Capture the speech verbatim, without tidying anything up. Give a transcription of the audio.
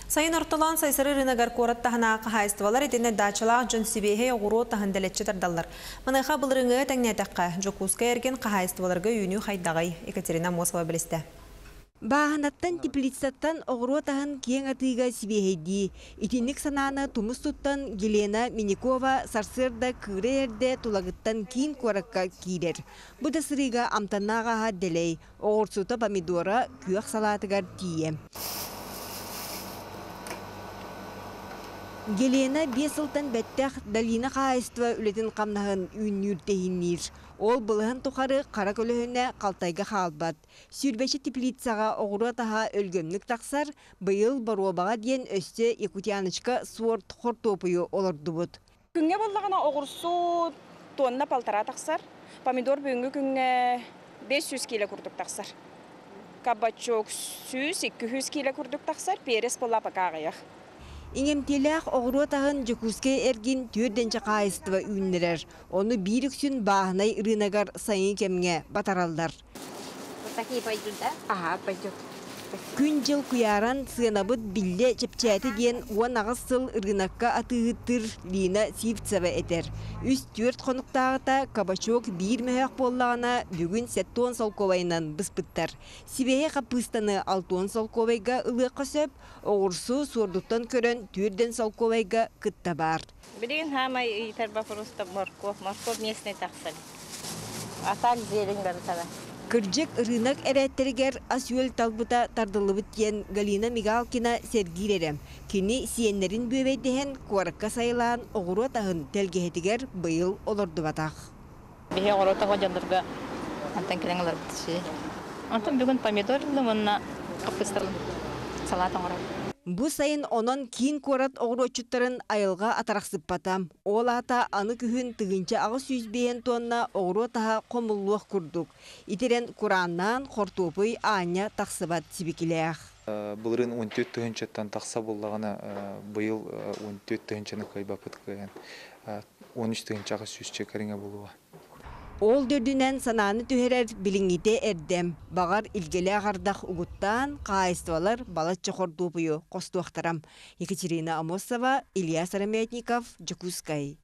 Sayın Ortalan sayısarı rınagar korat tahana kahayıstıvalar etine dağçılar John Sibehe oğuru tahandeletçi tardallar. Manayha bılırıngı tәңнәтәққа Жокуска ерген kahayıstıvalarga үйіні хайдағай Екатерina Мосова білісті. Баһанаттан теплицаттан оғыру тахын кең атыға Сибехеди. Итинник сананы тумус туттан Елена Миникова сарсырда кыры ерде тулагыттан кин коракка кирер. Бұда сырыға амтаннаға делей. Оғырсута помидора күйақ салатыгар тие. Елена бесылтан бәттәқ Далина қайыстыва үлетін қамнағын үйіннүртехіннер. Ол бұлығын тұқары қара көліхіне қалтайға қалбат. Сүрбәші теплицаға оғыру таға өлгөмлік тақсар, бұйыл баруабаға дейін өсті Якутянычка суор тұқыр топыйы олырды бұд. Күнге болдағына оғырсу тонна палтара тақсар, помидор бүгінгі күнге бес жүз келі күрдік тақсар. Кабачок жүз екі жүз келі күрдік тақсар, перес бола пақағыяқ. Иңемтеләқ оғыру тағын Жокуске әрген төрденші қайыстыва үйінлерер. Оны бір үксін бағынай рынагар сайын кемге батаралдар. Күн жыл куяран сығынабыд білі чепчәті ден уан ағыз сыл рынакка атығыттыр Лина Сивцева әтер. Үс төрт қонықтағыта кабачок бір мөйәк боллағына бүгін сәттон солковайынан бұспыттар. Сибеге қапыстаны алтон солковайға ұлы қосып, оғырсу сордуттан көрін төрден солковайға күтті бар. Білген хамай итарба просто морков, морков местный тақсыр. Атак зелень бар тара. Кырджек рынок әрәттергер асюэл талбыта тардылыбыт ен Галина Мигалкина сергиререм. Кені сиенлерін бөбейдеген куаракка сайылан оғыру тағын тәлгеетігер бұйыл олырды батақ. Бейе оғыру тағы жандырға антан келеңілер бітіші. Антан бүгін помидорлы мұнна қапыстырын салатын орай. Бу сайын онон кин корат оғырочуттарын айылға атарақсып батам. Ол ата аны күхін тығынча ағы сүйізбейен тонна оғыру таға қомылуық күрдік. Итерен Құраннан қортопый аня тақсыбат сибекілеяқ. Бұлырын он төрт түгіншеттен тақса болағына бұйыл он төрт түгіншені қайбапыт көйен. он үш түгінші ағы сүйізче кәріңе болуға. Ол дөрдінен сананы түхерер біліңіте әрдем. Бағар илгелі ағардақ ұғыттан қайыстывалар балатчы қордуғыйы қостуақтарам. Екатерина Амосова, Илья Сараметников, Жокускай.